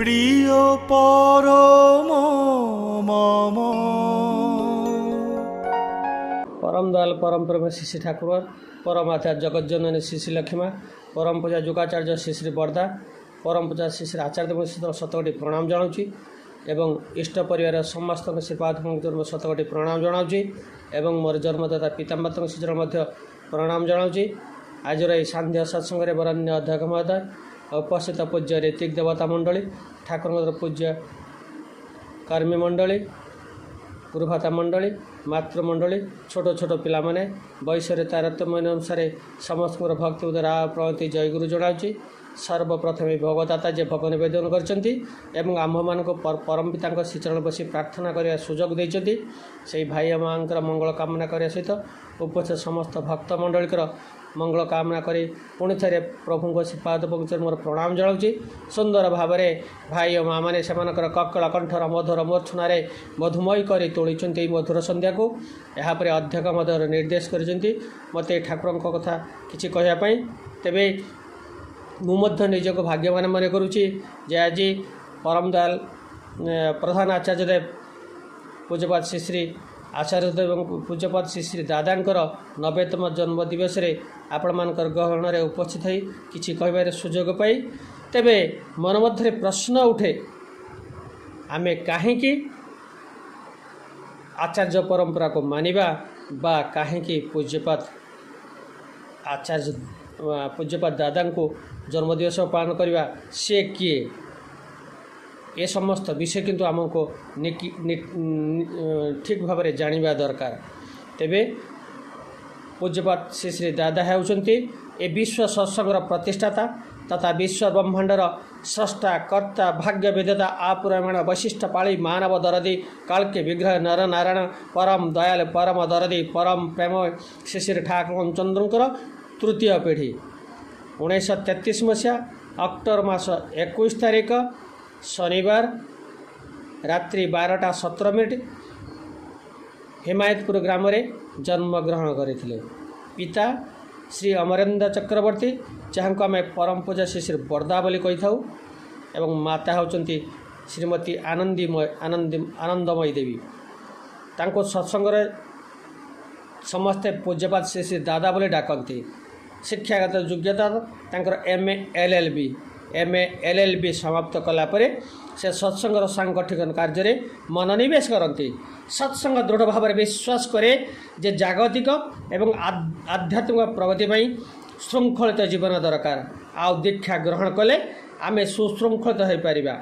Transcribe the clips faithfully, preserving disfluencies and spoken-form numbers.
প্রিয় পরম মম। পরম দয়াল পরম প্রেম শ্ରୀ ଶ୍ରୀ ଠାକୁର, ପରମ ଆଚାର୍ଯ୍ୟ ଜଗତଜନନୀ ଶ୍ରୀ ଶ୍ରୀ ଲକ୍ଷ୍ମୀମା, ପରମ ପୂଜା ଯୁଗାଚାର୍ଯ୍ୟ ଶ୍ରୀ ଶ୍ରୀ ବର୍ଦ୍ଦା, ପରମ ପୂଜା ଶ୍ରୀ ଶ୍ରୀ ଆଚାର୍ଯ୍ୟ ଦେବଙ୍କ ଶତକୋଟି ପ୍ରଣାମ ଜଣାଉଛି ଏବଂ ଇଷ୍ଟ ପରିବାର ସମସ୍ତଙ୍କ ଶ୍ରୀପାଦ ପଙ୍କଜରୁ ଶତକୋଟି ପ୍ରଣାମ ଜଣାଉଛି ଏବଂ ମୋର ଜନ୍ମଦାତା ପିତାମାତାଙ୍କ ଶ୍ରୀଚରଣ ମଧ୍ୟ ପ୍ରଣାମ ଜଣାଉଛି। ଆଜିର ଏହି ସାନ୍ଧ୍ୟ ସତ୍ସଙ୍ଗରେ ବରେଣ୍ୟ ଅଧ୍ୟକ୍ଷ ମହୋଦୟ, ଉପସ୍ଥିତ ପୂଜ୍ୟ ଋତ୍ୱିକ ଦେବତା ମଣ୍ଡଳୀ, ଠାକୁରଙ୍କର ପୂଜ୍ୟ କର୍ମୀ ମଣ୍ଡଳୀ, ଗୁରୁଭାତା ମଣ୍ଡଳୀ, ମାତୃମଣ୍ଡଳୀ, ଛୋଟ ଛୋଟ ପିଲାମାନେ, ବୟସରେ ତାରତମ୍ୟ ଅନୁସାରେ ସମସ୍ତଙ୍କର ଭକ୍ତି ଉଦରା ପ୍ରଣତି ଜୟଗୁରୁ ଜଣାଉଛି। ସର୍ବପ୍ରଥମେ ଭୋଗଦାତା ଯେ ଭୋଗ ନିବେଦନ କରିଛନ୍ତି ଏବଂ ଆମ୍ଭମାନଙ୍କୁ ପରମ ପିତାଙ୍କ ଶ୍ରୀଚରଣ ବସି ପ୍ରାର୍ଥନା କରିବା ସୁଯୋଗ ଦେଇଛନ୍ତି, ସେହି ଭାଇ ମାଆଙ୍କର ମଙ୍ଗଳ କାମନା କରିବା ସହିତ ଉପସ୍ଥିତ ସମସ୍ତ ଭକ୍ତ ମଣ୍ଡଳୀଙ୍କର ମଙ୍ଗଳ କାମନା କରି ପୁଣି ଥରେ ପ୍ରଭୁଙ୍କ ଶ୍ରୀପାଦ ପଙ୍କଜରେ ମୋର ପ୍ରଣାମ ଜଣାଉଛି। ସୁନ୍ଦର ଭାବରେ ଭାଇ ଓ ମାଆମାନେ ସେମାନଙ୍କର କକଳ କଣ୍ଠର ମଧୁର ମୂର୍ଚ୍ଛନାରେ ମଧୁମୟ କରି ତୋଳିଛନ୍ତି ଏହି ମଧୁର ସନ୍ଧ୍ୟାକୁ। ଏହାପରେ ଅଧ୍ୟକ୍ଷ ମଧ୍ୟ ନିର୍ଦ୍ଦେଶ କରିଛନ୍ତି ମୋତେ ଠାକୁରଙ୍କ କଥା କିଛି କହିବା ପାଇଁ। ତେବେ ମୁଁ ମଧ୍ୟ ନିଜକୁ ଭାଗ୍ୟବାନ ମନେ କରୁଛି ଯେ ଆଜି ପରମ ଦୟାଲ ପ୍ରଧାନ ଆଚାର୍ଯ୍ୟ ଦେବ ପୂଜ୍ୟପାଦ ଶ୍ରୀ ଶ୍ରୀ ଆଚାର୍ଯ୍ୟ ଦେବ ଏବଂ ପୂଜ୍ୟପାଦ ଶ୍ରୀ ଶ୍ରୀ ଦାଦାଙ୍କର ନବେତମ ଜନ୍ମ ଦିବସରେ ଆପଣମାନଙ୍କର ଗହଣରେ ଉପସ୍ଥିତ ହୋଇ କିଛି କହିବାର ସୁଯୋଗ ପାଇ, ତେବେ ମନ ମଧ୍ୟରେ ପ୍ରଶ୍ନ ଉଠେ, ଆମେ କାହିଁକି ଆଚାର୍ଯ୍ୟ ପରମ୍ପରାକୁ ମାନିବା ବା କାହିଁକି ପୂଜ୍ୟପାଦ ଆଚାର୍ଯ୍ୟ ପୂଜ୍ୟପାଦ ଦାଦାଙ୍କୁ ଜନ୍ମଦିବସ ପାଳନ କରିବା, ସେ କିଏ? ଏ ସମସ୍ତ ବିଷୟ କିନ୍ତୁ ଆମକୁ ଠିକ୍ ଭାବରେ ଜାଣିବା ଦରକାର। ତେବେ ପୂଜ୍ୟପାଦ ଶ୍ରୀ ଶ୍ରୀ ଦାଦା ହେଉଛନ୍ତି ଏ ବିଶ୍ୱ ସତ୍ସଙ୍ଗର ପ୍ରତିଷ୍ଠାତା ତଥା ବିଶ୍ୱ ବ୍ରହ୍ମାଣ୍ଡର ସ୍ରଷ୍ଟା, କର୍ତ୍ତା, ଭାଗ୍ୟ ବିଧାତା, ଆପରିମାଣ ବୈଶିଷ୍ଟ୍ୟ ପାଳି ମାନବ ଦରଦୀ କାଳ୍କେ ବିଗ୍ରହ ନର ନାରାୟଣ ପରମ ଦୟାଲ ପରମ ଦରଦୀ ପରମ ପ୍ରେମ ଶ୍ରୀ ଶ୍ରୀ ଠାକୁର ଚନ୍ଦ୍ରଙ୍କର ତୃତୀୟ ପିଢ଼ି। ଉଣେଇଶହ ତେତିଶ ମସିହା ଅକ୍ଟୋବର ମାସ ଏକୋଇଶ ତାରିଖ ଶନିବାର ରାତ୍ରି ବାରଟା ସତର ମିନିଟ୍ ହିମାୟତପୁର ଗ୍ରାମରେ ଜନ୍ମଗ୍ରହଣ କରିଥିଲେ। ପିତା ଶ୍ରୀ ଅମରେନ୍ଦ୍ର ଚକ୍ରବର୍ତ୍ତୀ, ଯାହାଙ୍କୁ ଆମେ ପରମ ପୂଜା ଶ୍ରୀ ଶ୍ରୀ ବର୍ଦ୍ଦା ବୋଲି କହିଥାଉ, ଏବଂ ମାତା ହେଉଛନ୍ତି ଶ୍ରୀମତୀ ଆନନ୍ଦୀମୟ ଆନନ୍ଦୀ ଆନନ୍ଦମୟୀ ଦେବୀ। ତାଙ୍କୁ ସତ୍ସଙ୍ଗରେ ସମସ୍ତେ ପୂଜ୍ୟପାଦ ଶ୍ରୀ ଶ୍ରୀ ଦାଦା ବୋଲି ଡାକନ୍ତି। ଶିକ୍ଷାଗତ ଯୋଗ୍ୟତା ତାଙ୍କର M A L L B M A L L B ସମାପ୍ତ କଲା ପରେ ସେ ସତ୍ସଙ୍ଗର ସାଂଗଠନିକ କାର୍ଯ୍ୟରେ ମନୋନିବେଶ କରନ୍ତି। ସତ୍ସଙ୍ଗ ଦୃଢ଼ ଭାବରେ ବିଶ୍ୱାସ କରେ ଯେ ଜାଗତିକ ଏବଂ ଆଧ୍ୟାତ୍ମିକ ପ୍ରଗତି ପାଇଁ ଶୃଙ୍ଖଳିତ ଜୀବନ ଦରକାର, ଆଉ ଦୀକ୍ଷା ଗ୍ରହଣ କଲେ ଆମେ ସୁଶୃଙ୍ଖଳିତ ହୋଇପାରିବା।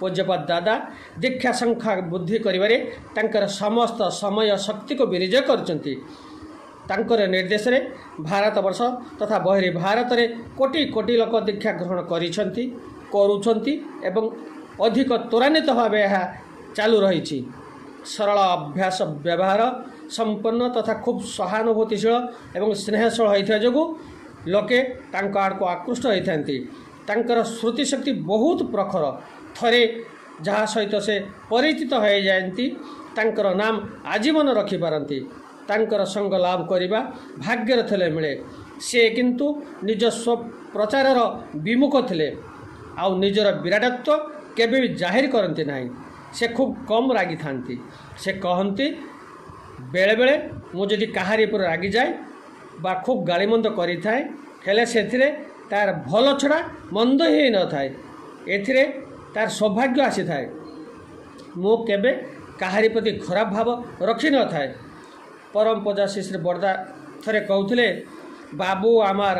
ପୂଜ୍ୟପାଦ ଦାଦା ଦୀକ୍ଷା ସଂଖ୍ୟା ବୃଦ୍ଧି କରିବାରେ ତାଙ୍କର ସମସ୍ତ ସମୟ ଶକ୍ତିକୁ ବିନିଯୋଗ କରୁଛନ୍ତି। ତାଙ୍କର ନିର୍ଦ୍ଦେଶରେ ଭାରତବର୍ଷ ତଥା ବହିର୍ ଭାରତରେ କୋଟି କୋଟି ଲୋକ ଦୀକ୍ଷା ଗ୍ରହଣ କରିଛନ୍ତି, କରୁଛନ୍ତି ଏବଂ ଅଧିକ ତ୍ୱରାନ୍ୱିତ ଭାବେ ଏହା ଚାଲୁ ରହିଛି। ସରଳ ଅଭ୍ୟାସ ବ୍ୟବହାର ସମ୍ପନ୍ନ ତଥା ଖୁବ୍ ସହାନୁଭୂତିଶୀଳ ଏବଂ ସ୍ନେହଶୀଳ ହୋଇଥିବା ଯୋଗୁଁ ଲୋକେ ତାଙ୍କ ଆଡ଼କୁ ଆକୃଷ୍ଟ ହୋଇଥାନ୍ତି। ତାଙ୍କର ସ୍ମୃତିଶକ୍ତି ବହୁତ ପ୍ରଖର। ଥରେ ଯାହା ସହିତ ସେ ପରିଚିତ ହୋଇଯାଆନ୍ତି ତାଙ୍କର ନାମ ଆଜୀବନ ରଖିପାରନ୍ତି। ତାଙ୍କର ସଙ୍ଗ ଲାଭ କରିବା ଭାଗ୍ୟରେ ଥିଲେ ମିଳେ। ସେ କିନ୍ତୁ ନିଜ ସ୍ୱପ୍ରଚାରର ବିମୁଖ ଥିଲେ, ଆଉ ନିଜର ବିରାଟତ୍ୱ କେବେ ବି ଜାହିର କରନ୍ତି ନାହିଁ। ସେ ଖୁବ୍ କମ୍ ରାଗିଥାନ୍ତି। ସେ କହନ୍ତି, ବେଳେବେଳେ ମୁଁ ଯଦି କାହାରି ଉପରେ ରାଗିଯାଏ ବା ଖୁବ୍ ଗାଳିମନ୍ଦ କରିଥାଏ, ହେଲେ ସେଥିରେ ତାର ଭଲ ଛଡ଼ା ମନ୍ଦ ହିଁ ନଥାଏ, ଏଥିରେ ତାର ସୌଭାଗ୍ୟ ଆସିଥାଏ। ମୁଁ କେବେ କାହାରି ପ୍ରତି ଖରାପ ଭାବ ରଖିନଥାଏ। ପରମ ପୂଜା ଶ୍ରୀ ଶ୍ରୀ ବର୍ଦ୍ଦା ଥରେ କହୁଥିଲେ, ବାବୁ ଆମର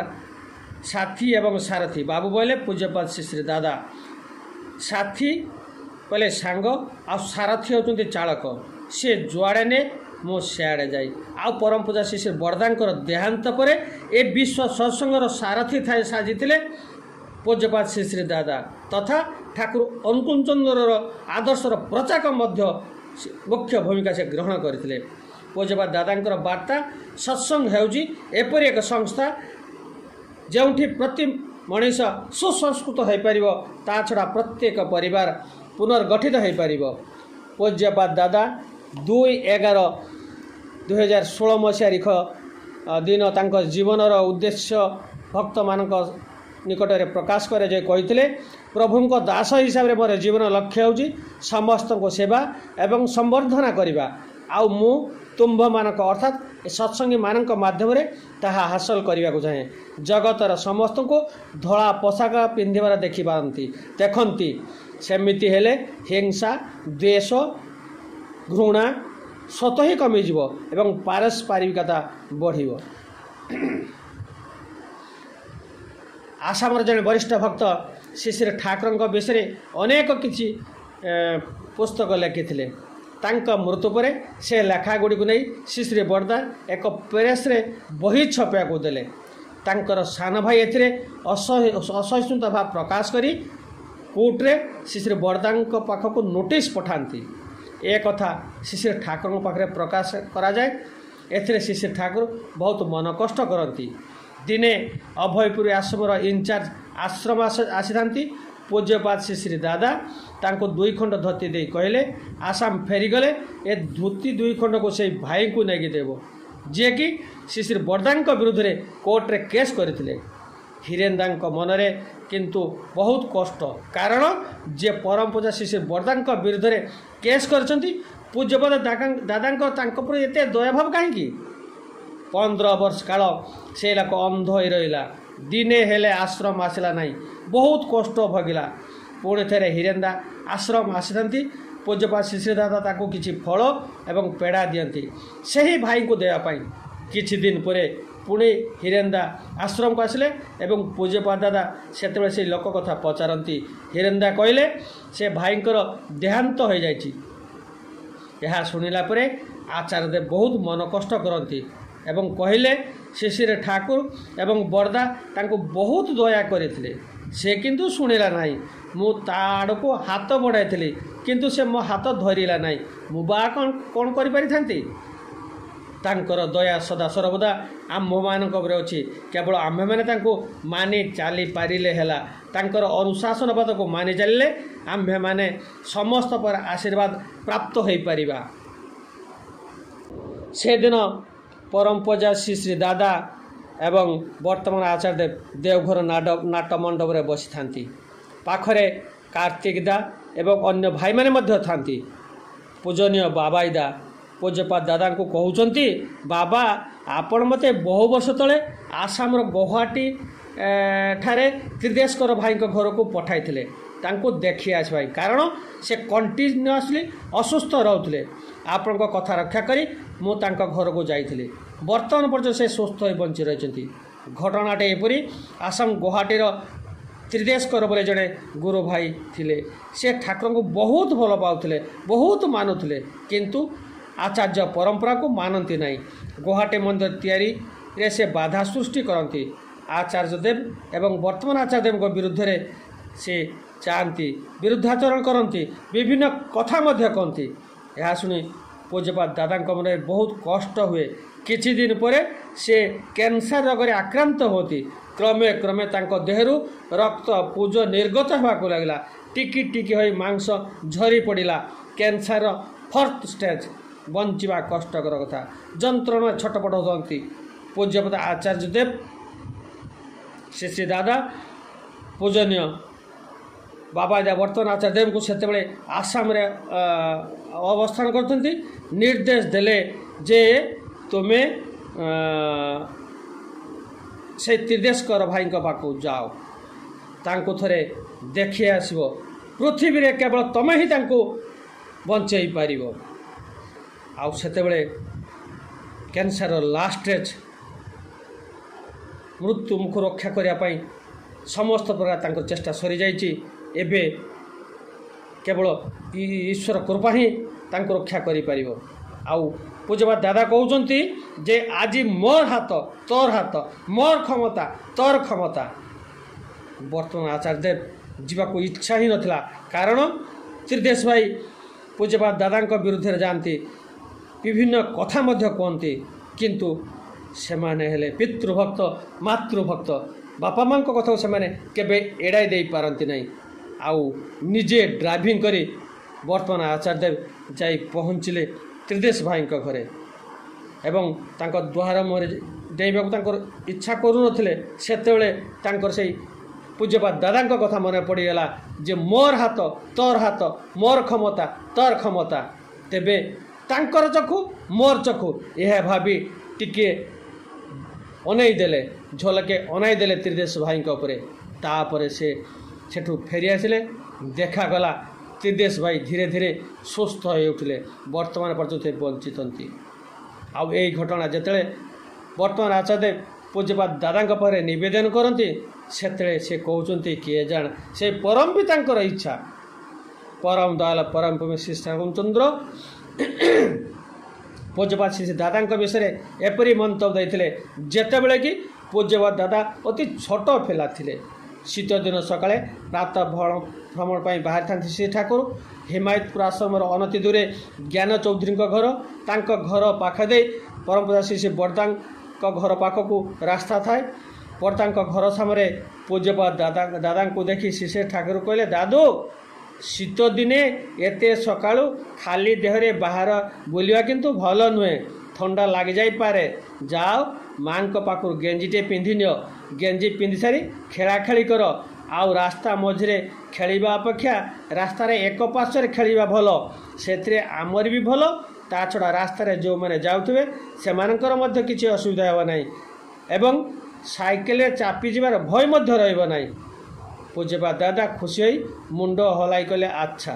ସାଥୀ ଏବଂ ସାରଥୀ। ବାବୁ ବୋଇଲେ ପୂଜ୍ୟପାଦ ଶ୍ରୀ ଶ୍ରୀ ଦାଦା, ସାଥୀ କହିଲେ ସାଙ୍ଗ, ଆଉ ସାରଥୀ ହେଉଛନ୍ତି ଚାଳକ। ସିଏ ଯୁଆଡ଼େ ନେ ମୁଁ ସିଆଡ଼େ ଯାଇ। ଆଉ ପରମ ପୂଜା ଶ୍ରୀ ଶ୍ରୀ ବର୍ଦ୍ଦାଙ୍କର ଦେହାନ୍ତ ପରେ ଏ ବିଶ୍ୱ ସତ୍ସଙ୍ଗର ସାରଥୀ ଥାଇ ସାଜିଥିଲେ ପୂଜ୍ୟପାଦ ଶ୍ରୀ ଶ୍ରୀ ଦାଦା ତଥା ଠାକୁର ଅନୁକୂଳ ଚନ୍ଦ୍ରର ଆଦର୍ଶର ପ୍ରଚାରକ ମଧ୍ୟ ମୁଖ୍ୟ ଭୂମିକା ସେ ଗ୍ରହଣ କରିଥିଲେ। ପୂଜ୍ୟପାଦ ଦାଦାଙ୍କର ବାର୍ତ୍ତା, ସତ୍ସଙ୍ଗ ହେଉଛି ଏପରି ଏକ ସଂସ୍ଥା ଯେଉଁଠି ପ୍ରତି ମଣିଷ ସୁସଂସ୍କୃତ ହୋଇପାରିବ, ତା ଛଡ଼ା ପ୍ରତ୍ୟେକ ପରିବାର ପୁନର୍ଗଠିତ ହୋଇପାରିବ। ପୂଜ୍ୟପାଦ ଦାଦା ଦୁଇ ଏଗାର ଦୁଇହଜାର ଷୋହଳ ମସିହା ତାରିଖ ଦିନ ତାଙ୍କ ଜୀବନର ଉଦ୍ଦେଶ୍ୟ ଭକ୍ତମାନଙ୍କ ନିକଟରେ ପ୍ରକାଶ କରାଯାଇ କହିଥିଲେ, ପ୍ରଭୁଙ୍କ ଦାସ ହିସାବରେ ମୋର ଜୀବନ ଲକ୍ଷ୍ୟ ହେଉଛି ସମସ୍ତଙ୍କୁ ସେବା ଏବଂ ସମ୍ବର୍ଦ୍ଧନା କରିବା, ଆଉ ମୁଁ ତୁମ୍ଭମାନଙ୍କ ଅର୍ଥାତ୍ ଏ ସତ୍ସଙ୍ଗୀମାନଙ୍କ ମାଧ୍ୟମରେ ତାହା ହାସଲ କରିବାକୁ ଚାହେଁ। ଜଗତର ସମସ୍ତଙ୍କୁ ଧଳା ପୋଷାକ ପିନ୍ଧିବାର ଦେଖିପାରନ୍ତି ଦେଖନ୍ତି, ସେମିତି ହେଲେ ହିଂସା, ଦ୍ୱେଷ, ଘୃଣା ସ୍ୱତଃ ହିଁ କମିଯିବ ଏବଂ ପାରସ୍ପରିକତା ବଢ଼ିବ। ଆସାମର ଜଣେ ବରିଷ୍ଠ ଭକ୍ତ ଶ୍ରୀ ଶ୍ରୀ ଠାକୁରଙ୍କ ବିଷୟରେ ଅନେକ କିଛି ପୁସ୍ତକ ଲେଖିଥିଲେ। ତାଙ୍କ ମୃତ୍ୟୁ ପରେ ସେ ଲେଖା ଗୁଡ଼ିକୁ ନେଇ ଶ୍ରୀ ଶ୍ରୀ ବଡ଼ଦା ଏକ ପ୍ରେସ୍ରେ ବହି ଛପାଇବାକୁ ଦେଲେ। ତାଙ୍କର ସାନ ଭାଇ ଏଥିରେ ଅସହିଷ୍ଣୁତା ଭାବ ପ୍ରକାଶ କରି କୋର୍ଟରେ ଶ୍ରୀ ଶ୍ରୀ ବଡ଼ଦାଙ୍କ ପାଖକୁ ନୋଟିସ୍ ପଠାନ୍ତି। ଏ କଥା ଶ୍ରୀ ଶ୍ରୀ ଠାକୁରଙ୍କ ପାଖରେ ପ୍ରକାଶ କରାଯାଏ। ଏଥିରେ ଶ୍ରୀ ଶ୍ରୀ ଠାକୁର ବହୁତ ମନ କଷ୍ଟ କରନ୍ତି। ଦିନେ ଅଭୟପୁରୀ ଆଶ୍ରମର ଇନଚାର୍ଜ ଆଶ୍ରମ ଆସିଥାନ୍ତି। ପୂଜ୍ୟପାଦ ଶ୍ରୀ ଶ୍ରୀ ଦାଦା ତାଙ୍କୁ ଦୁଇ ଖଣ୍ଡ ଧୋତି ଦେଇ କହିଲେ, ଆସାମ ଫେରିଗଲେ ଏ ଧୋତି ଦୁଇ ଖଣ୍ଡକୁ ସେଇ ଭାଇଙ୍କୁ ନେଇକି ଦେବ, ଯିଏକି ଶ୍ରୀ ଶ୍ରୀ ବଡ଼ଦାଙ୍କ ବିରୁଦ୍ଧରେ କୋର୍ଟରେ କେସ୍ କରିଥିଲେ। ହୀରେନ୍ଦାଙ୍କ ମନରେ କିନ୍ତୁ ବହୁତ କଷ୍ଟ, କାରଣ ଯିଏ ପରମ ପୂଜା ଶ୍ରୀ ଶ୍ରୀ ବଡ଼ଦାଙ୍କ ବିରୁଦ୍ଧରେ କେସ୍ କରିଛନ୍ତି, ପୂଜ୍ୟପାଦ ଦାଦାଙ୍କ ତାଙ୍କ ପ୍ରତି ଏତେ ଦୟାଭାବ କାହିଁକି? ପନ୍ଦର ବର୍ଷ କାଳ ସେ ଲୋକ ଅନ୍ଧ ହୋଇ ରହିଲା। ଦିନେ ହେଲେ ଆଶ୍ରମ ଆସିଲା ନାହିଁ, ବହୁତ କଷ୍ଟ ଭୋଗିଲା। ପୁଣି ଥରେ ହୀରେନ୍ଦା ଆଶ୍ରମ ଆସିଥାନ୍ତି। ପୂଜ୍ୟପାଦ ଶ୍ରୀ ଶ୍ରୀ ଦାଦା ତାକୁ କିଛି ଫଳ ଏବଂ ପେଡ଼ା ଦିଅନ୍ତି ସେହି ଭାଇଙ୍କୁ ଦେବା ପାଇଁ। କିଛି ଦିନ ପରେ ପୁଣି ହୀରେନ୍ଦା ଆଶ୍ରମକୁ ଆସିଲେ ଏବଂ ପୂଜ୍ୟପାଦ ଦାଦା ସେତେବେଳେ ସେଇ ଲୋକ କଥା ପଚାରନ୍ତି। ହୀରେନ୍ଦା କହିଲେ ସେ ଭାଇଙ୍କର ଦେହାନ୍ତ ହୋଇଯାଇଛି। ଏହା ଶୁଣିଲା ପରେ ଆଚାର୍ଯ୍ୟଦେବ ବହୁତ ମନ କଷ୍ଟ କରନ୍ତି ଏବଂ କହିଲେ, ଶ୍ରୀ ଶ୍ରୀ ଠାକୁର ଏବଂ ବଡ଼ଦା ତାଙ୍କୁ ବହୁତ ଦୟା କରିଥିଲେ, ସେ କିନ୍ତୁ ଶୁଣିଲା ନାହିଁ। ମୁଁ ତା ଆଡ଼କୁ ହାତ ବଢ଼ାଇଥିଲି, କିନ୍ତୁ ସେ ମୋ ହାତ ଧରିଲା ନାହିଁ। ମୁଁ ବା କ'ଣ କ'ଣ କରିପାରିଥାନ୍ତି? ତାଙ୍କର ଦୟା ସଦା ସର୍ବଦା ଆମ୍ଭମାନଙ୍କ ଉପରେ ଅଛି। କେବଳ ଆମ୍ଭେମାନେ ତାଙ୍କୁ ମାନି ଚାଲିପାରିଲେ ହେଲା। ତାଙ୍କର ଅନୁଶାସନବାଦକୁ ମାନି ଚାଲିଲେ ଆମ୍ଭେମାନେ ସମସ୍ତ ପ୍ରକାର ଆଶୀର୍ବାଦ ପ୍ରାପ୍ତ ହୋଇପାରିବା। ସେଦିନ ପରମ ପୂଜା ଶ୍ରୀ ଶ୍ରୀ ଦାଦା ଏବଂ ବର୍ତ୍ତମାନ ଆଚାର୍ଯ୍ୟଦେବ ଦେଓଘର ନାଟ ମଣ୍ଡପରେ ବସିଥାନ୍ତି। ପାଖରେ କାର୍ତ୍ତିକ ଦା ଏବଂ ଅନ୍ୟ ଭାଇମାନେ ମଧ୍ୟ ଥାନ୍ତି। ପୂଜନୀୟ ବାବାଇ ଦା ପୂଜ୍ୟପାଦ ଦାଦାଙ୍କୁ କହୁଛନ୍ତି, ବାବା, ଆପଣ ମୋତେ ବହୁ ବର୍ଷ ତଳେ ଆସାମର ଗୌହାଟୀ ଠାରେ ତ୍ରିଦେଶକର ଭାଇଙ୍କ ଘରକୁ ପଠାଇଥିଲେ ତାଙ୍କୁ ଦେଖି ଆସିବା ପାଇଁ, କାରଣ ସେ କଣ୍ଟିନ୍ୟୁଅସଲି ଅସୁସ୍ଥ ରହୁଥିଲେ। ଆପଣଙ୍କ କଥା ରକ୍ଷା କରି ମୁଁ ତାଙ୍କ ଘରକୁ ଯାଇଥିଲି। ବର୍ତ୍ତମାନ ପର୍ଯ୍ୟନ୍ତ ସେ ସୁସ୍ଥ ହୋଇ ବଞ୍ଚି ରହିଛନ୍ତି। ଘଟଣାଟି ଏପରି, ଆସାମ ଗୌହାଟୀର ତ୍ରିଦେଶକର ବୋଲି ଜଣେ ଗୁରୁ ଭାଇ ଥିଲେ। ସେ ଠାକୁରଙ୍କୁ ବହୁତ ଭଲ ପାଉଥିଲେ, ବହୁତ ମାନୁଥିଲେ, କିନ୍ତୁ ଆଚାର୍ଯ୍ୟ ପରମ୍ପରାକୁ ମାନନ୍ତି ନାହିଁ। ଗୌହାଟୀ ମନ୍ଦିର ତିଆରିରେ ସେ ବାଧା ସୃଷ୍ଟି କରନ୍ତି। ଆଚାର୍ଯ୍ୟଦେବ ଏବଂ ବର୍ତ୍ତମାନ ଆଚାର୍ଯ୍ୟଦେବଙ୍କ ବିରୁଦ୍ଧରେ ସେ ଚାହାନ୍ତି, ବିରୁଦ୍ଧାଚରଣ କରନ୍ତି, ବିଭିନ୍ନ କଥା ମଧ୍ୟ କହନ୍ତି। ଏହା ଶୁଣି ପୂଜ୍ୟପାଦ ଦାଦାଙ୍କ ମନରେ ବହୁତ କଷ୍ଟ ହୁଏ। କିଛି ଦିନ ପରେ ସେ କ୍ୟାନ୍ସର ରୋଗରେ ଆକ୍ରାନ୍ତ ହୁଅନ୍ତି। କ୍ରମେ କ୍ରମେ ତାଙ୍କ ଦେହରୁ ରକ୍ତ ପୂଜ ନିର୍ଗତ ହେବାକୁ ଲାଗିଲା। ଟିକି ଟିକି ହୋଇ ମାଂସ ଝରି ପଡ଼ିଲା। କ୍ୟାନ୍ସରର ଫୋର୍ଥ ଷ୍ଟେଜ୍, ବଞ୍ଚିବା କଷ୍ଟକର କଥା। ଯନ୍ତ୍ରଣା ଛଟପଟ ହୁଅନ୍ତି। ପୂଜ୍ୟପାଦ ଆଚାର୍ଯ୍ୟଦେବ ଶ୍ରୀ ଶ୍ରୀ ଦାଦା ପୂଜନୀୟ ବାବା ବର୍ତ୍ତମାନ ଆଚାର୍ଯ୍ୟଦେବଙ୍କୁ ସେତେବେଳେ ଆସାମରେ ଅବସ୍ଥାନ କରୁଛନ୍ତି, ନିର୍ଦ୍ଦେଶ ଦେଲେ ଯେ ତୁମେ ସେଇ ତ୍ରିଦେଶକର ଭାଇଙ୍କ ପାଖକୁ ଯାଅ, ତାଙ୍କୁ ଥରେ ଦେଖି ଆସିବ। ପୃଥିବୀରେ କେବଳ ତୁମେ ହିଁ ତାଙ୍କୁ ବଞ୍ଚେଇ ପାରିବ। ଆଉ ସେତେବେଳେ କ୍ୟାନ୍ସରର ଲାଷ୍ଟ ଷ୍ଟେଜ୍, ମୃତ୍ୟୁ ମୁଖରୁ ରକ୍ଷା କରିବା ପାଇଁ ସମସ୍ତ ପ୍ରକାର ତାଙ୍କର ଚେଷ୍ଟା ସରିଯାଇଛି। ଏବେ କେବଳ ଈଶ୍ୱର କୃପା ହିଁ ତାଙ୍କୁ ରକ୍ଷା କରିପାରିବ। ଆଉ ପୂଜ୍ୟପାଦ ଦାଦା କହୁଛନ୍ତି ଯେ ଆଜି ମୋର ହାତ ତୋର ହାତ, ମୋର କ୍ଷମତା ତୋର କ୍ଷମତା। ବର୍ତ୍ତମାନ ଆଚାର୍ଯ୍ୟଦେବ ଯିବାକୁ ଇଚ୍ଛା ହିଁ ନଥିଲା, କାରଣ ତ୍ରିଦେଶ ଭାଇ ପୂଜ୍ୟପାଦ ଦାଦାଙ୍କ ବିରୁଦ୍ଧରେ ଯାଆନ୍ତି, ବିଭିନ୍ନ କଥା ମଧ୍ୟ କୁହନ୍ତି, କିନ୍ତୁ ସେମାନେ ହେଲେ ପିତୃଭକ୍ତ ମାତୃଭକ୍ତ। ବାପା ମାଆଙ୍କ କଥାକୁ ସେମାନେ କେବେ ଏଡ଼ାଇ ଦେଇପାରନ୍ତି ନାହିଁ। ଆଉ ନିଜେ ଡ୍ରାଇଭିଂ କରି ବର୍ତ୍ତମାନ ଆଚାର୍ଯ୍ୟଦେବ ଯାଇ ପହଞ୍ଚିଲେ ତ୍ରିଦେଶ ଭାଇଙ୍କ ଘରେ ଏବଂ ତାଙ୍କ ଦ୍ୱାର ମୁହଁରେ ଡେଇଁବାକୁ ତାଙ୍କର ଇଚ୍ଛା କରୁନଥିଲେ। ସେତେବେଳେ ତାଙ୍କର ସେଇ ପୂଜ୍ୟପାଦ ଦାଦାଙ୍କ କଥା ମନେ ପଡ଼ିଗଲା ଯେ ମୋର ହାତ ତୋର ହାତ, ମୋର କ୍ଷମତା ତୋର କ୍ଷମତା, ତେବେ ତାଙ୍କର ଚକ୍ଷୁ ମୋର ଚକ୍ଷୁ, ଏହା ଭାବି ଟିକିଏ ଅନେଇ ଦେଲେ, ଝଲକେ ଅନାଇ ଦେଲେ ତ୍ରିଦେଶ ଭାଇଙ୍କ ଉପରେ। ତାପରେ ସେ ସେଠୁ ଫେରି ଆସିଲେ। ଦେଖାଗଲା ତ୍ରିଦେଶ ଭାଇ ଧୀରେ ଧୀରେ ସୁସ୍ଥ ହୋଇ ଉଠିଲେ, ବର୍ତ୍ତମାନ ପର୍ଯ୍ୟନ୍ତ ସେ ବଞ୍ଚିଛନ୍ତି। ଆଉ ଏଇ ଘଟଣା ଯେତେବେଳେ ବର୍ତ୍ତମାନ ଆଚାର୍ଯ୍ୟଦେବ ପୂଜ୍ୟପାଦ ଦାଦାଙ୍କ ପାଖରେ ନିବେଦନ କରନ୍ତି, ସେତେବେଳେ ସେ କହୁଛନ୍ତି କିଏ ଜାଣେ ସେ ପରମ ପିତାଙ୍କର ଇଚ୍ଛା। ପରମ ଦୟାଲ ପରମ ପ୍ରେମୀ ଶ୍ରୀ ରାମଚନ୍ଦ୍ର ପୂଜ୍ୟପାଦ ଶ୍ରୀ ଦାଦାଙ୍କ ବିଷୟରେ ଏପରି ମନ୍ତବ୍ୟ ଦେଇଥିଲେ, ଯେତେବେଳେ କି ପୂଜ୍ୟପାଦ ଦାଦା ଅତି ଛୋଟ ପିଲା ଥିଲେ। ଶୀତ ଦିନ ସକାଳେ ପ୍ରାତଃ ଭ୍ରମଣ ପାଇଁ ବାହାରିଥାନ୍ତି ଶ୍ରୀ ଠାକୁର। ହିମାୟତପୁର ଆଶ୍ରମର ଅନତି ଦୂରେ ଜ୍ଞାନ ଚୌଧୁରୀଙ୍କ ଘର। ତାଙ୍କ ଘର ପାଖ ଦେଇ ପରମ ପୂଜା ଶ୍ରୀ ଶ୍ରୀ ବରଦାଙ୍କ ଘର ପାଖକୁ ରାସ୍ତା ଥାଏ। ବରଦାଙ୍କ ଘର ସାମ୍ନାରେ ପୂଜ୍ୟପାଦ ଦାଦା ଦାଦାଙ୍କୁ ଦେଖି ଶ୍ରୀ ଶ୍ରୀ ଠାକୁର କହିଲେ, ଦାଦୁ, ଶୀତ ଦିନେ ଏତେ ସକାଳୁ ଖାଲି ଦେହରେ ବାହାର ବୁଲିବା କିନ୍ତୁ ଭଲ ନୁହେଁ, ଥଣ୍ଡା ଲାଗିଯାଇପାରେ। ଯାଅ ମାଆଙ୍କ ପାଖରୁ ଗେଞ୍ଜିଟେ ପିନ୍ଧି ନିଅ, ଗେଞ୍ଜି ପିନ୍ଧି ସାରି ଖେଳାଖେଳି କର। ଆଉ ରାସ୍ତା ମଝିରେ ଖେଳିବା ଅପେକ୍ଷା ରାସ୍ତାରେ ଏକ ପାର୍ଶ୍ୱରେ ଖେଳିବା ଭଲ, ସେଥିରେ ଆମର ବି ଭଲ, ତା ଛଡ଼ା ରାସ୍ତାରେ ଯେଉଁମାନେ ଯାଉଥିବେ ସେମାନଙ୍କର ମଧ୍ୟ କିଛି ଅସୁବିଧା ହେବ ନାହିଁ ଏବଂ ସାଇକେଲରେ ଚାପିଯିବାର ଭୟ ମଧ୍ୟ ରହିବ ନାହିଁ। ପୂଜ୍ୟପାଦ ଦାଦା ଖୁସି ହୋଇ ମୁଣ୍ଡ ହଲାଇ କହିଲେ, ଆଚ୍ଛା।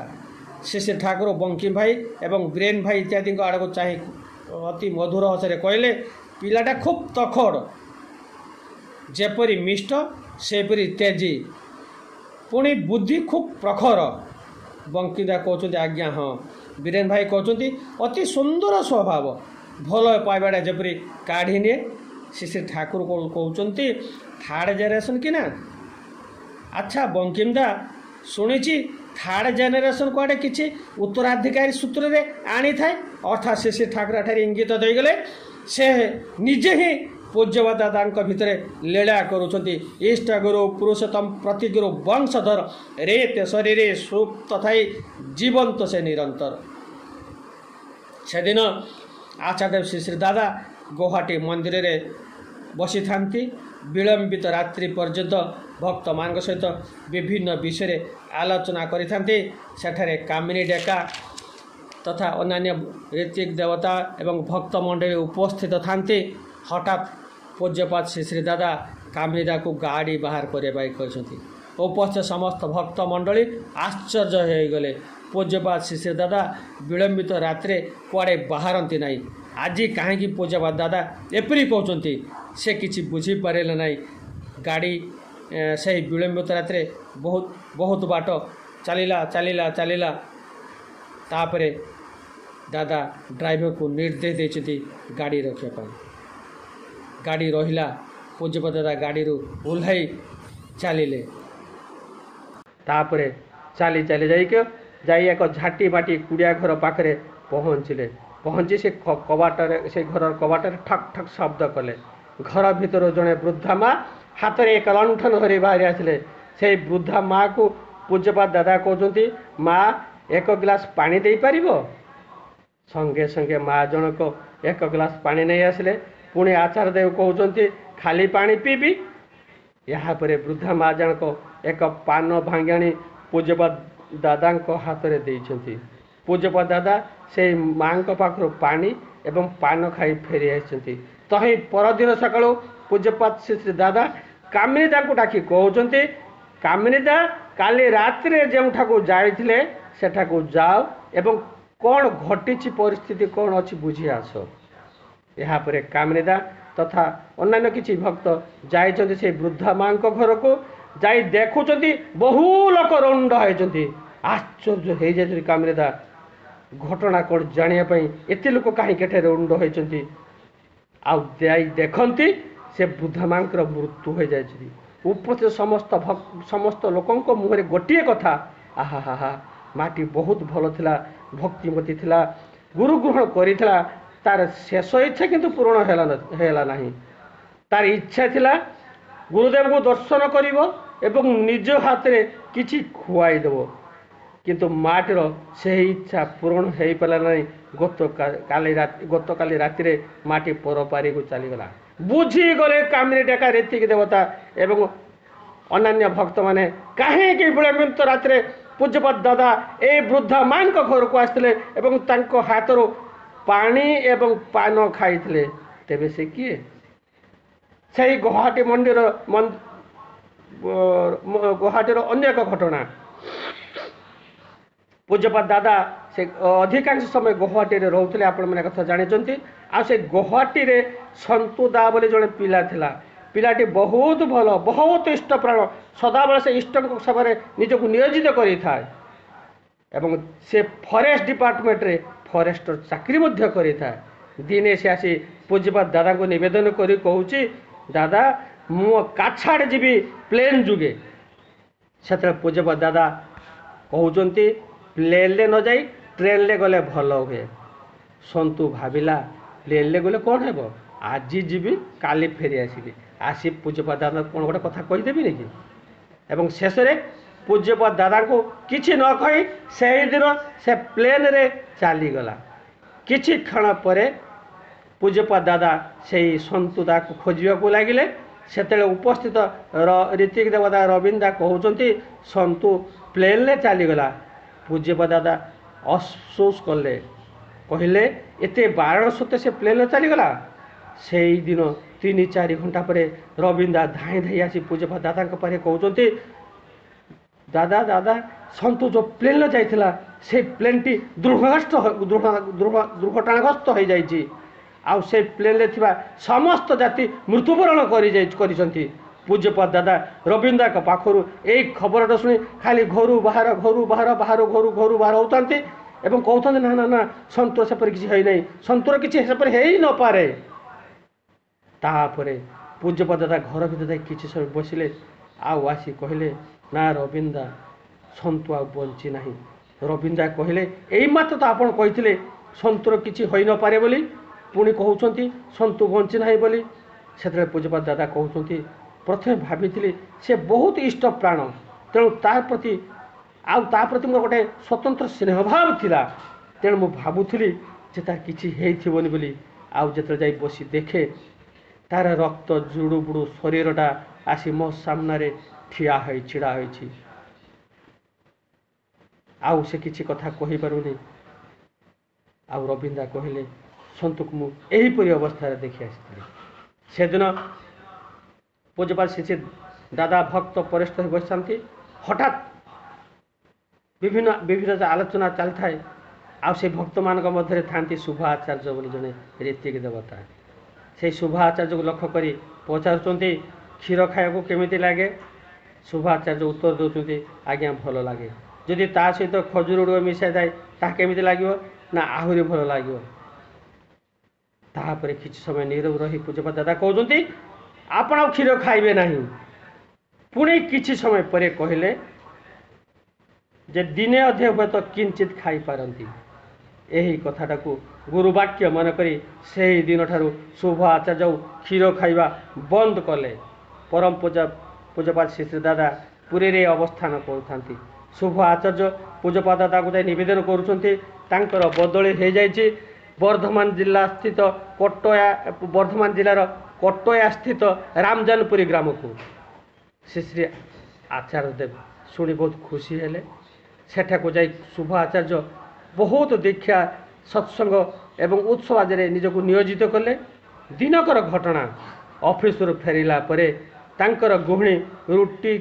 ଶ୍ରୀ ଶ୍ରୀ ଠାକୁର ବଙ୍କିମ ଭାଇ ଏବଂ ବ୍ରେନ୍ ଭାଇ ଇତ୍ୟାଦିଙ୍କ ଆଡ଼କୁ ଚାହିଁ ଅତି ମଧୁର ହସରେ କହିଲେ, ପିଲାଟା ଖୁବ୍ ତଖଡ଼, ଯେପରି ମିଷ୍ଟ ସେପରି ତେଜି, ପୁଣି ବୁଦ୍ଧି ଖୁବ୍ ପ୍ରଖର। ବଙ୍କିଦା କହୁଛନ୍ତି, ଆଜ୍ଞା ହଁ। ବୀରେନ ଭାଇ କହୁଛନ୍ତି, ଅତି ସୁନ୍ଦର ସ୍ୱଭାବ, ଭଲ ପାଇବାଟା ଯେପରି କାଢ଼ି ନିଏ। ଶ୍ରୀ ଶ୍ରୀ ଠାକୁର କହୁଛନ୍ତି, ଥାର୍ଡ଼ ଜେନେରେସନ୍ କି ନା? ଆଚ୍ଛା ବଙ୍କିମଦା, ଶୁଣିଛି ଥାର୍ଡ଼ ଜେନେରେସନ୍ କୁଆଡ଼େ କିଛି ଉତ୍ତରାଧିକାରୀ ସୂତ୍ରରେ ଆଣିଥାଏ। ଅର୍ଥାତ୍ ଶ୍ରୀ ଶ୍ରୀ ଠାକୁର ଏଠାରେ ଇଙ୍ଗିତ ଦେଇଗଲେ, ସେ ନିଜେ ହିଁ ପୂଜ୍ୟପାଦ ଦାଦାଙ୍କ ଭିତରେ ଲୀଳା କରୁଛନ୍ତି। ଇଷ୍ଟଗୁରୁ ପୁରୁଷୋତ୍ତମ ପ୍ରତିଗୁରୁ ବଂଶଧର ରେତେ ଶରୀରେ ସୁପ୍ତ ଥାଇ ଜୀବନ୍ତ ସେ ନିରନ୍ତର। ସେଦିନ ଆଚାର୍ଯ୍ୟ ଶ୍ରୀ ଶ୍ରୀ ଦାଦା ଗୌହାଟୀ ମନ୍ଦିରରେ ବସିଥାନ୍ତି। ବିଳମ୍ବିତ ରାତ୍ରି ପର୍ଯ୍ୟନ୍ତ ଭକ୍ତମାନଙ୍କ ସହିତ ବିଭିନ୍ନ ବିଷୟରେ ଆଲୋଚନା କରିଥାନ୍ତି। ସେଠାରେ କାମିନୀ ଡେକା ତଥା ଅନ୍ୟାନ୍ୟ ଋତ୍ୱିକ ଦେବତା ଏବଂ ଭକ୍ତମଣ୍ଡଳୀ ଉପସ୍ଥିତ ଥାନ୍ତି। ହଠାତ୍ ପୂଜ୍ୟପାଦ ଶ୍ରୀ ଶ୍ରୀ ଦାଦା କାମିନୀଦାକୁ ଗାଡ଼ି ବାହାର କରିବା ପାଇଁ କହିଛନ୍ତି। ଉପସ୍ଥିତ ସମସ୍ତ ଭକ୍ତମଣ୍ଡଳୀ ଆଶ୍ଚର୍ଯ୍ୟ ହୋଇଗଲେ। ପୂଜ୍ୟପାଦ ଶ୍ରୀ ଶ୍ରୀ ଦାଦା ବିଳମ୍ବିତ ରାତିରେ କୁଆଡ଼େ ବାହାରନ୍ତି ନାହିଁ, ଆଜି କାହିଁକି ପୂଜ୍ୟପାଦ ଦାଦା ଏପରି କହୁଛନ୍ତି ସେ କିଛି ବୁଝିପାରିଲେ ନାହିଁ। ଗାଡ଼ି ସେହି ବିଳମ୍ବିତ ରାତିରେ ବହୁତ ବହୁତ ବାଟ ଚାଲିଲା ଚାଲିଲା ଚାଲିଲା। ତାପରେ ଦାଦା ଡ୍ରାଇଭରକୁ ନିର୍ଦ୍ଦେଶ ଦେଇଛନ୍ତି ଗାଡ଼ି ରଖିବା ପାଇଁ। ଗାଡ଼ି ରହିଲା। ପୂଜ୍ୟପାଦ ଦାଦା ଗାଡ଼ିରୁ ଓହ୍ଲାଇ ଚାଲିଲେ। ତାପରେ ଚାଲି ଚାଲି ଯାଇକି ଯାଇ ଏକ ଝାଟି ମାଟି କୁଡ଼ିଆ ଘର ପାଖରେ ପହଞ୍ଚିଲେ। ପହଞ୍ଚି ସେ କବାଟରେ ସେ ଘରର କବାଟରେ ଠକ୍ ଠକ୍ ଶବ୍ଦ କଲେ। ଘର ଭିତରୁ ଜଣେ ବୃଦ୍ଧା ମା ହାତରେ ଏକ ଲଣ୍ଠନ ଧରି ବାହାରି ଆସିଲେ। ସେଇ ବୃଦ୍ଧା ମାଆକୁ ପୂଜ୍ୟପାଦ ଦାଦା କହୁଛନ୍ତି, ମା, ଏକ ଗ୍ଲାସ ପାଣି ଦେଇପାରିବ? ସଙ୍ଗେ ସଙ୍ଗେ ମା ଜଣକ ଏକ ଗ୍ଲାସ ପାଣି ନେଇ ଆସିଲେ। ପୁଣି ଆଚାର୍ଯ୍ୟଦେବ କହୁଛନ୍ତି, ଖାଲି ପାଣି ପିଇବି? ଏହାପରେ ବୃଦ୍ଧା ମା ଜଣକ ଏକ ପାନ ଭାଙ୍ଗାଣି ପୂଜ୍ୟପାଦ ଦାଦାଙ୍କ ହାତରେ ଦେଇଛନ୍ତି। ପୂଜ୍ୟପାଦ ଦାଦା ସେଇ ମାଆଙ୍କ ପାଖରୁ ପାଣି ଏବଂ ପାନ ଖାଇ ଫେରି ଆସିଛନ୍ତି। ତହିଁ ପରଦିନ ସକାଳୁ ପୂଜ୍ୟପାଦ ଶ୍ରୀ ଶ୍ରୀ ଦାଦା କାମିନୀଦାଙ୍କୁ ଡାକି କହୁଛନ୍ତି, କାମିନୀଦା, କାଲି ରାତିରେ ଯେଉଁଠାକୁ ଯାଇଥିଲେ ସେଠାକୁ ଯାଅ ଏବଂ କ'ଣ ଘଟିଛି, ପରିସ୍ଥିତି କ'ଣ ଅଛି ବୁଝି ଆସ। ଏହାପରେ କାମିନୀଦା ତଥା ଅନ୍ୟାନ୍ୟ କିଛି ଭକ୍ତ ଯାଇଛନ୍ତି ସେଇ ବୃଦ୍ଧା ମାଆଙ୍କ ଘରକୁ। ଯାଇ ଦେଖୁଛନ୍ତି ବହୁ ଲୋକ ରୁଣ୍ଡ ହେଇଛନ୍ତି। ଆଶ୍ଚର୍ଯ୍ୟ ହେଇଯାଇଛନ୍ତି କାମିନୀଦା, ଘଟଣା କ'ଣ ଜାଣିବା ପାଇଁ ଏତେ ଲୋକ କାହିଁକି ଏଠାରେ ରୁଣ୍ଡ ହେଇଛନ୍ତି। ଆଉ ଯାଇ ଦେଖନ୍ତି ସେ ବୃଦ୍ଧା ମାଆଙ୍କର ମୃତ୍ୟୁ ହୋଇଯାଇଛି। ଉପସ୍ଥିତ ସମସ୍ତ ସମସ୍ତ ଲୋକଙ୍କ ମୁହଁରେ ଗୋଟିଏ କଥା, ଆହା ହା ହା, ମାଟି ବହୁତ ଭଲ ଥିଲା, ଭକ୍ତିମତୀ ଥିଲା, ଗୁରୁ ଗ୍ରହଣ କରିଥିଲା, ତାର ଶେଷ ଇଚ୍ଛା କିନ୍ତୁ ପୂରଣ ହେଲା ହେଲା ନାହିଁ। ତାର ଇଚ୍ଛା ଥିଲା ଗୁରୁଦେବଙ୍କୁ ଦର୍ଶନ କରିବ ଏବଂ ନିଜ ହାତରେ କିଛି ଖୁଆଇଦେବ, କିନ୍ତୁ ମାଟିର ସେହି ଇଚ୍ଛା ପୂରଣ ହେଇପାରିଲା ନାହିଁ। ଗତକାଲି ରାତି ଗତକାଲି ରାତିରେ ମାଟି ପରପାରିକୁ ଚାଲିଗଲା। ବୁଝିଗଲେ କାମିନୀ ଡେକା ଋତ୍ୱିକ ଦେବତା ଏବଂ ଅନ୍ୟାନ୍ୟ ଭକ୍ତମାନେ କାହିଁକି ବିଳମ୍ବିତ ରାତିରେ ପୂଜ୍ୟପାଦ ଦାଦା ଏଇ ବୃଦ୍ଧା ମାଙ୍କ ଘରକୁ ଆସିଥିଲେ ଏବଂ ତାଙ୍କ ହାତରୁ ପାଣି ଏବଂ ପାନ ଖାଇଥିଲେ? ତେବେ ସେ କିଏ? ସେଇ ଗୌହାଟୀ ମନ୍ଦିର, ଗୌହାଟୀର ଅନ୍ୟ ଏକ ଘଟଣା। ପୂଜ୍ୟପାଦ ଦାଦା ସେ ଅଧିକାଂଶ ସମୟ ଗୌହାଟୀରେ ରହୁଥିଲେ, ଆପଣମାନେ କଥା ଜାଣିଛନ୍ତି। ଆଉ ସେ ଗୌହାଟୀରେ ସନ୍ତୁ ଦା ବୋଲି ଜଣେ ପିଲା ଥିଲା। ପିଲାଟି ବହୁତ ଭଲ, ବହୁତ ଇଷ୍ଟପ୍ରାଣ, ସଦାବେଳେ ସେ ଇଷ୍ଟଙ୍କ ସେବାରେ ନିଜକୁ ନିୟୋଜିତ କରିଥାଏ ଏବଂ ସେ ଫରେଷ୍ଟ ଡିପାର୍ଟମେଣ୍ଟରେ ଫରେଷ୍ଟର ଚାକିରି ମଧ୍ୟ କରିଥାଏ। ଦିନେ ସେ ଆସି ପୂଜ୍ୟପାଦ ଦାଦାଙ୍କୁ ନିବେଦନ କରି କହୁଛି, ଦାଦା, ମୁଁ କାଛାଡ଼ ଯିବି ପ୍ଲେନ୍ ଯୋଗେ। ସେତେବେଳେ ପୂଜ୍ୟପାଦ ଦାଦା କହୁଛନ୍ତି, ପ୍ଲେନ୍ରେ ନ ଯାଇ ଟ୍ରେନ୍ରେ ଗଲେ ଭଲ ହୁଏ। ସନ୍ତୁ ଭାବିଲା, ପ୍ଲେନ୍ରେ ଗଲେ କ'ଣ ହେବ, ଆଜି ଯିବି କାଲି ଫେରି ଆସିବି, ଆସି ପୂଜ୍ୟପାଦ ଦାଦା କ'ଣ ଗୋଟେ କଥା କହିଦେବିନି କି? ଏବଂ ଶେଷରେ ପୂଜ୍ୟପାଦ ଦାଦାଙ୍କୁ କିଛି ନ କହି ସେଇଦିନ ସେ ପ୍ଲେନ୍ରେ ଚାଲିଗଲା। କିଛି କ୍ଷଣ ପରେ ପୂଜ୍ୟପାଦ ଦାଦା ସେଇ ସନ୍ତୁ ଦାକୁ ଖୋଜିବାକୁ ଲାଗିଲେ। ସେତେବେଳେ ଉପସ୍ଥିତ ଋତ୍ୱିକ ଦେବତା ରବୀନ୍ଦ୍ର କହୁଛନ୍ତି, ସନ୍ତୁ ପ୍ଲେନ୍ରେ ଚାଲିଗଲା। ପୂଜ୍ୟପାଦ ଦାଦା ଅଫସୋସ କଲେ, କହିଲେ, ଏତେ ବାରଣ ସତ୍ତ୍ୱେ ସେ ପ୍ଲେନ୍ରେ ଚାଲିଗଲା। ସେଇଦିନ ତିନି ଚାରି ଘଣ୍ଟା ପରେ ରବୀନ୍ଦ୍ର ଧାଇଁ ଧାଇଁ ଆସି ପୂଜ୍ୟପାଦ ଦାଦାଙ୍କ ପାଖରେ କହୁଛନ୍ତି, ଦାଦା ଦାଦା, ସନ୍ତୁ ଯେଉଁ ପ୍ଲେନ୍ରେ ଯାଇଥିଲା ସେଇ ପ୍ଲେନ୍ଟି ଦୁର୍ଘଟଣାଗ୍ରସ୍ତ ଦୁର୍ଘଟଣାଗ୍ରସ୍ତ ହୋଇଯାଇଛି, ଆଉ ସେଇ ପ୍ଲେନ୍ରେ ଥିବା ସମସ୍ତ ଯାତ୍ରୀ ମୃତ୍ୟୁବରଣ କରିଯାଇ କରିଛନ୍ତି। ପୂଜ୍ୟପାଦ ଦାଦା ରବୀନ୍ଦ୍ରଙ୍କ ପାଖରୁ ଏଇ ଖବରଟା ଶୁଣି ଖାଲି ଘରୁ ବାହାର, ଘରୁ ବାହାର, ବାହାରୁ ଘରୁ, ଘରୁ ବାହାର ହେଉଥାନ୍ତି ଏବଂ କହୁଥାନ୍ତି, ନା ନା ନା, ସନ୍ତୁର ସେପରି କିଛି ହେଇନାହିଁ, ସନ୍ତୁର କିଛି ସେପରି ହେଇ ନପାରେ। ତାପରେ ପୂଜ୍ୟପାଦ ଦାଦା ଘର ଭିତରେ ଯାଇ କିଛି ସମୟ ବସିଲେ, ଆଉ ଆସି କହିଲେ, ନା ରବୀନ୍ଦ୍ର, ସନ୍ତୁ ଆଉ ବଞ୍ଚି ନାହିଁ। ରବୀନ୍ଦ୍ର କହିଲେ, ଏଇ ମାତ୍ର ତ ଆପଣ କହିଥିଲେ ସନ୍ତୁର କିଛି ହୋଇନପାରେ ବୋଲି, ପୁଣି କହୁଛନ୍ତି ସନ୍ତୁ ବଞ୍ଚି ନାହିଁ ବୋଲି। ସେତେବେଳେ ପୂଜ୍ୟପାଦ ଦାଦା କହୁଛନ୍ତି, ପ୍ରଥମେ ଭାବିଥିଲି ସେ ବହୁତ ଇଷ୍ଟ ପ୍ରାଣ, ତେଣୁ ତା ପ୍ରତି ଆଉ ତା ପ୍ରତି ମୋର ଗୋଟେ ସ୍ୱତନ୍ତ୍ର ସ୍ନେହଭାବ ଥିଲା, ତେଣୁ ମୁଁ ଭାବୁଥିଲି ଯେ ତାର କିଛି ହେଇଥିବନି ବୋଲି। ଆଉ ଯେତେବେଳେ ଯାଇ ବସି ଦେଖେ, ତାର ରକ୍ତ ଜୁଡ଼ୁବୁଡ଼ୁ ଶରୀରଟା ଆସି ମୋ ସାମ୍ନାରେ ଠିଆ ହୋଇ ଛିଡ଼ା ହୋଇଛି, ଆଉ ସେ କିଛି କଥା କହିପାରୁନି। ଆଉ ରବୀନ୍ଦ୍ର କହିଲେ, ସନ୍ତୁକୁ ମୁଁ ଏହିପରି ଅବସ୍ଥାରେ ଦେଖି ଆସିଥିଲି। ସେଦିନ ପୂଜ୍ୟପାଦ ଶ୍ରୀ ଦାଦା ଭକ୍ତ ପରିସ୍ଥ ହୋଇ ବସିଥାନ୍ତି। ହଠାତ୍ ବିଭିନ୍ନ ବିଭିନ୍ନ ଆଲୋଚନା ଚାଲିଥାଏ, ଆଉ ସେ ଭକ୍ତମାନଙ୍କ ମଧ୍ୟରେ ଥାନ୍ତି ଶୁଭ ଆଚାର୍ଯ୍ୟ ବୋଲି ଜଣେ ଋତ୍ୱିକ ଦେବତା। ସେଇ ଶୁଭ ଆଚାର୍ଯ୍ୟକୁ ଲକ୍ଷ୍ୟ କରି ପଚାରୁଛନ୍ତି, କ୍ଷୀର ଖାଇବାକୁ କେମିତି ଲାଗେ? ଶୁଭ ଆଚାର୍ଯ୍ୟ ଉତ୍ତର ଦେଉଛନ୍ତି, ଆଜ୍ଞା ଭଲ ଲାଗେ। ଯଦି ତା ସହିତ ଖଜୁର ଗୁଡ଼ିକ ମିଶାଇ ଥାଏ ତାହା କେମିତି ଲାଗିବ? ନା, ଆହୁରି ଭଲ ଲାଗିବ। ତାପରେ କିଛି ସମୟ ନୀରବ ରହି ପୂଜ୍ୟପାଦ ଦାଦା କହୁଛନ୍ତି, ଆପଣ ଆଉ କ୍ଷୀର ଖାଇବେ ନାହିଁ। ପୁଣି କିଛି ସମୟ ପରେ କହିଲେ ଯେ ଦିନେ ଅଧେ ହୁଏତ କିଞ୍ଚିତ ଖାଇପାରନ୍ତି। ଏହି କଥାଟାକୁ ଗୁରୁବାକ୍ୟ ମନେକରି ସେହି ଦିନଠାରୁ ଶୁଭ ଆଚାର୍ଯ୍ୟ କ୍ଷୀର ଖାଇବା ବନ୍ଦ କଲେ। ପରମ ପୂଜା ପୂଜ୍ୟପାଦ ଶ୍ରୀ ଶ୍ରୀ ଦାଦା ପୁରୀରେ ଅବସ୍ଥାନ କରୁଥାନ୍ତି। ଶୁଭ ଆଚାର୍ଯ୍ୟ ପୂଜ୍ୟପାଦ ଦାଦାକୁ ଯାଇ ନିବେଦନ କରୁଛନ୍ତି, ତାଙ୍କର ବଦଳି ହୋଇଯାଇଛି ବର୍ଦ୍ଧମାନ ଜିଲ୍ଲା ସ୍ଥିତ କଟୟା, ବର୍ଦ୍ଧମାନ ଜିଲ୍ଲାର କଟୟା ସ୍ଥିତ ରାମଜାନପୁରୀ ଗ୍ରାମକୁ। ଶ୍ରୀ ଶ୍ରୀ ଆଚାର୍ଯ୍ୟ ଦେବ ଶୁଣି ବହୁତ ଖୁସି ହେଲେ। ସେଠାକୁ ଯାଇ ଶୁଭ ଆଚାର୍ଯ୍ୟ ବହୁତ ଦୀକ୍ଷା, ସତ୍ସଙ୍ଗ ଏବଂ ଉତ୍ସବ ଆଦିରେ ନିଜକୁ ନିୟୋଜିତ କଲେ। ଦିନକର ଘଟଣା, ଅଫିସରୁ ଫେରିଲା ପରେ ତାଙ୍କର ଗୃହିଣୀ ରୁଟି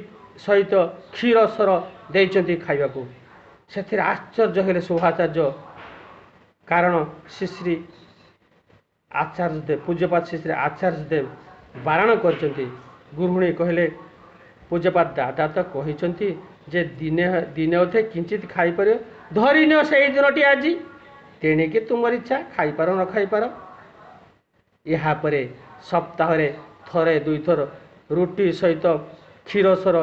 ସହିତ କ୍ଷୀର ସର ଦେଇଛନ୍ତି ଖାଇବାକୁ। ସେଥିରେ ଆଶ୍ଚର୍ଯ୍ୟ ହେଲେ ଶୁଭାଚାର୍ଯ୍ୟ, କାରଣ ଶ୍ରୀ ଶ୍ରୀ ଆଚାର୍ଯ୍ୟ ଦେବ, ପୂଜ୍ୟପାଦ ଶ୍ରୀ ଶ୍ରୀ ଆଚାର୍ଯ୍ୟ ଦେବ ବାରଣ କରିଛନ୍ତି। ଗୃହିଣୀ କହିଲେ, ପୂଜ୍ୟପାଦ ଦାଦା ତ କହିଛନ୍ତି ଯେ ଦିନେ ଦିନେ ଅଧେ କିଞ୍ଚିତ ଖାଇପାରିବ, ଧରିନିଅ ସେଇ ଦିନଟି ଆଜି, ତେଣିକି ତୁମର ଇଚ୍ଛା, ଖାଇପାର ନ ଖାଇପାର। ଏହାପରେ ସପ୍ତାହରେ ଥରେ ଦୁଇଥର ରୁଟି ସହିତ କ୍ଷୀର ସର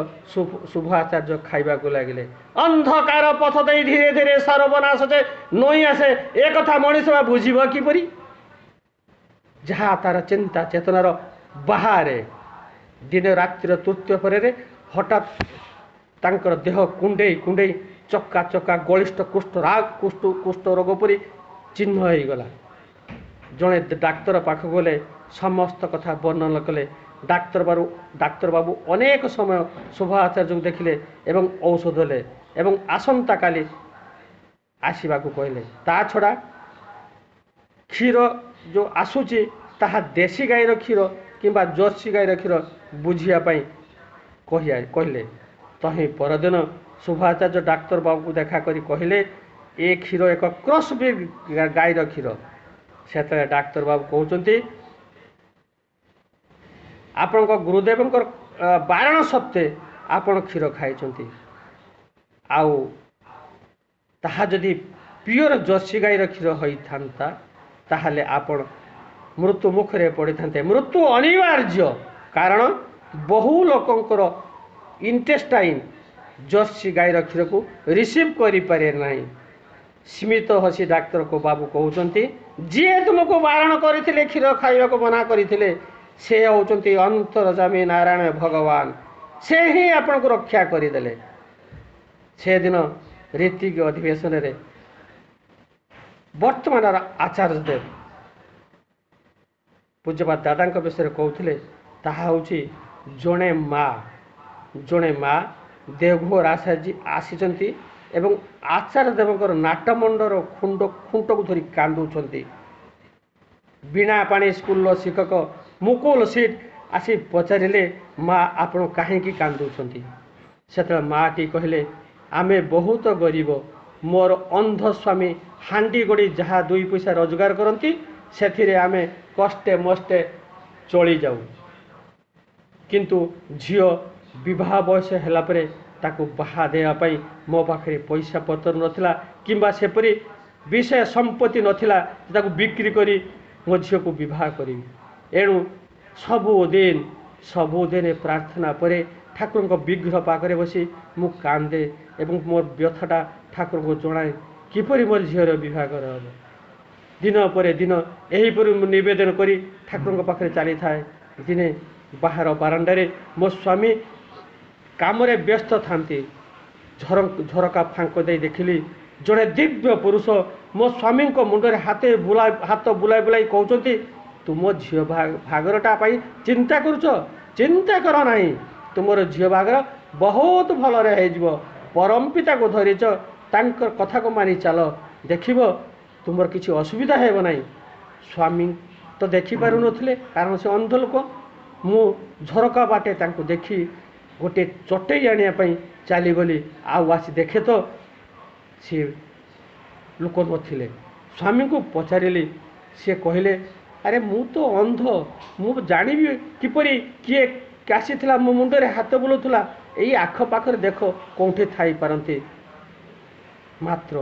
ଶୁଭ ଆଚାର୍ଯ୍ୟ ଖାଇବାକୁ ଲାଗିଲେ। ଅନ୍ଧକାର ପଥ ଦେଇ ଧୀରେ ଧୀରେ ସର୍ବନାଶ ଯେ ନଇଁ ଆସେ, ଏ କଥା ମଣିଷ ବା ବୁଝିବ କିପରି? ଯାହା ତାର ଚିନ୍ତା ଚେତନାର ବାହାରେ। ଦିନ ରାତ୍ରିର ତୃତୀୟ ପରେ ହଠାତ୍ ତାଙ୍କର ଦେହ କୁଣ୍ଡେଇ କୁଣ୍ଡେଇ ଚକା ଚକା ଗଳିଷ୍ଠ କୁଷ୍ଠ ରାଗ କୁଷ୍ଠ କୁଷ୍ଠ ରୋଗ ପରି ଚିହ୍ନ ହେଇଗଲା। ଜଣେ ଡାକ୍ତର ପାଖକୁ ଗଲେ, ସମସ୍ତ କଥା ବର୍ଣ୍ଣନା କଲେ। ଡାକ୍ତରବାବୁ ଡାକ୍ତରବାବୁ ଅନେକ ସମୟ ଶୋଭା ଆଚାର୍ଯ୍ୟଙ୍କୁ ଦେଖିଲେ ଏବଂ ଔଷଧ ଦେଲେ ଏବଂ ଆସନ୍ତାକାଲି ଆସିବାକୁ କହିଲେ। ତା ଛଡ଼ା କ୍ଷୀର ଯେଉଁ ଆସୁଛି ତାହା ଦେଶୀ ଗାଈର କ୍ଷୀର କିମ୍ବା ଜର୍ସି ଗାଈର କ୍ଷୀର ବୁଝିବା ପାଇଁ କହିଆ କହିଲେ। ତହିଁ ପରଦିନ ଶୋଭାଚାର୍ଯ୍ୟ ଡାକ୍ତର ବାବୁକୁ ଦେଖା କରି କହିଲେ, ଏ କ୍ଷୀର ଏକ କ୍ରସ୍ ବ୍ରିଡ୍ ଗାଈର କ୍ଷୀର। ସେତେବେଳେ ଡାକ୍ତର ବାବୁ କହୁଛନ୍ତି, ଆପଣଙ୍କ ଗୁରୁଦେବଙ୍କର ବାରଣ ସତ୍ତ୍ୱେ ଆପଣ କ୍ଷୀର ଖାଇଛନ୍ତି, ଆଉ ତାହା ଯଦି ପିଓର ଜର୍ସି ଗାଈର କ୍ଷୀର ହୋଇଥାନ୍ତା ତାହେଲେ ଆପଣ ମୃତ୍ୟୁ ମୁଖରେ ପଡ଼ିଥାନ୍ତେ। ମୃତ୍ୟୁ ଅନିବାର୍ଯ୍ୟ, କାରଣ ବହୁ ଲୋକଙ୍କର ଇଣ୍ଟେଷ୍ଟାଇନ୍ ଜର୍ସି ଗାଈର କ୍ଷୀରକୁ ରିସିଭ୍ କରିପାରେ ନାହିଁ। ସ୍ମିତ ହସି ଡାକ୍ତରକୁ ବାବୁ କହୁଛନ୍ତି, ଯିଏ ତୁମକୁ ବାରଣ କରିଥିଲେ, କ୍ଷୀର ଖାଇବାକୁ ମନା କରିଥିଲେ, ସେ ହେଉଛନ୍ତି ଅନ୍ତର୍ଯାମୀ ନାରାୟଣ ଭଗବାନ, ସେ ହିଁ ଆପଣଙ୍କୁ ରକ୍ଷା କରିଦେଲେ। ସେଦିନ ରୀତିକ ଅଧିବେଶନରେ ବର୍ତ୍ତମାନର ଆଚାର୍ଯ୍ୟ ଦେବ ପୂଜ୍ୟପାଦ ଦାଦାଙ୍କ ବିଷୟରେ କହୁଥିଲେ, ତାହା ହେଉଛି ଜଣେ ମା, ଜଣେ ମା ଦେଓଘର ଆସି ଆସିଛନ୍ତି ଏବଂ ଆଚାର୍ଯ୍ୟ ଦେବଙ୍କର ନାଟମଣ୍ଡର ଖୁଣ୍ଡ ଖୁଣ୍ଟକୁ ଧରି କାନ୍ଦୁଛନ୍ତି। ବୀଣା ପାଣି ସ୍କୁଲର ଶିକ୍ଷକ ମୁକୁଲ ସିଟ୍ ଆସି ପଚାରିଲେ, ମା ଆପଣ କାହିଁକି କାନ୍ଦୁଛନ୍ତି? ସେତେବେଳେ ମାଟି କହିଲେ, ଆମେ ବହୁତ ଗରିବ, ମୋର ଅନ୍ଧ ସ୍ୱାମୀ ହାଣ୍ଡି ଗଡ଼ି ଯାହା ଦୁଇ ପଇସା ରୋଜଗାର କରନ୍ତି ସେଥିରେ ଆମେ କଷ୍ଟେ ମଷ୍ଟେ ଚଳିଯାଉ, କିନ୍ତୁ ଝିଅ ବିବାହ ବୟସ ହେଲା ପରେ ତାକୁ ବାହା ଦେବା ପାଇଁ ମୋ ପାଖରେ ପଇସା ପତ୍ର ନଥିଲା କିମ୍ବା ସେପରି ବିଷୟ ସମ୍ପତ୍ତି ନଥିଲା ତାକୁ ବିକ୍ରି କରି ମୋ ଝିଅକୁ ବିବାହ କରିବି। ଏଣୁ ସବୁଦିନ ସବୁଦିନ ପ୍ରାର୍ଥନା ପରେ ଠାକୁରଙ୍କ ବିଗ୍ରହ ପାଖରେ ବସି ମୁଁ କାନ୍ଦେ ଏବଂ ମୋର ବ୍ୟଥାଟା ଠାକୁରଙ୍କୁ ଜଣାଏ, କିପରି ମୋର ଝିଅର ବିବାହଘର ହେବ। ଦିନ ପରେ ଦିନ ଏହିପରି ମୁଁ ନିବେଦନ କରି ଠାକୁରଙ୍କ ପାଖରେ ଚାଲିଥାଏ। ଦିନେ ବାହାର ବାରଣ୍ଡାରେ ମୋ ସ୍ୱାମୀ କାମରେ ବ୍ୟସ୍ତ ଥାନ୍ତି। ଝର ଝରକା ଫାଙ୍କ ଦେଇ ଦେଖିଲି ଜଣେ ଦିବ୍ୟ ପୁରୁଷ ମୋ ସ୍ୱାମୀଙ୍କ ମୁଣ୍ଡରେ ହାତେ ବୁଲାଇ ହାତ ବୁଲାଇ ବୁଲାଇ କହୁଛନ୍ତି, ତୁମ ଝିଅ ବାହାଘରଟା ପାଇଁ ଚିନ୍ତା କରୁଛ? ଚିନ୍ତା କର ନାହିଁ, ତୁମର ଝିଅ ବାହାଘର ବହୁତ ଭଲରେ ହେଇଯିବ। ପରମପିତାକୁ ଧରିଛ, ତାଙ୍କ କଥାକୁ ମାନି ଚାଲ, ଦେଖିବ ତୁମର କିଛି ଅସୁବିଧା ହେବ ନାହିଁ। ସ୍ୱାମୀ ତ ଦେଖିପାରୁନଥିଲେ, କାରଣ ସେ ଅନ୍ଧ ଲୋକ। ମୁଁ ଝରକା ବାଟେ ତାଙ୍କୁ ଦେଖି ଗୋଟିଏ ଚଟେଇ ଆଣିବା ପାଇଁ ଚାଲିଗଲି। ଆଉ ଆସି ଦେଖେ ତ ସିଏ ଲୋକ ନଥିଲେ। ସ୍ୱାମୀଙ୍କୁ ପଚାରିଲି, ସିଏ କହିଲେ, ଆରେ ମୁଁ ତ ଅନ୍ଧ, ମୁଁ ଜାଣିବି କିପରି କିଏ ଆସିଥିଲା ମୋ ମୁଣ୍ଡରେ ହାତ ବୁଲାଉଥିଲା? ଏଇ ଆଖପାଖରେ ଦେଖ କେଉଁଠି ଥାଇପାରନ୍ତି। ମାତ୍ର